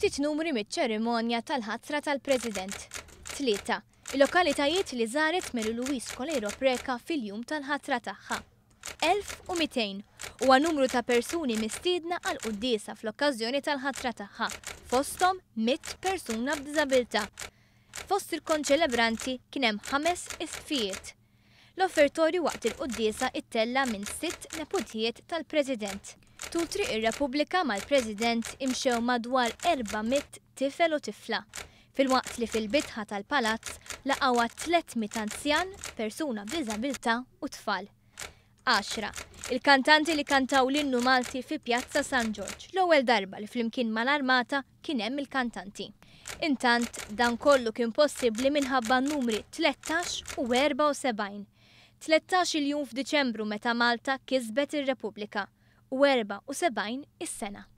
Ftit numri miċ-ċerimonja tal-ħatra tal-President. 3. Il-lokalitajiet li żaret Mary Louise Coleiro Preca fil-jum tal-ħatra tagħha. 1200 huwa numru ta' persuni mistiedna għal quddiesa fl-okkażjoni tal-ħatra tagħha, fosthom 100 persuna b'diżabilità. Fost il-konċelebranti kien hemm ħames isqfijiet. L-offertorju waqt il-quddiesa ittella' minn sitt neputijiet tal-President. Tul Triq ir-Repubblika mal-President imxew madwar 400 tifel u tifla, filwaqt li fil-bitħa tal-Palazz laqgħuha 300 anzjan, persuna b'diżabilità u tfal. 10. Il-kantanti li kantaw l-innu Malti fi Pjazza San Ġorġ, l-ewwel darba li flimkien mal-Armata kien hemm il-kantanti. Intant, dan kollu kien possibbli minħabba n-numri 13 u 74. 13-il jum f'Diċembru meta Malta kisbet ir-Repubblika u 74 is-sena.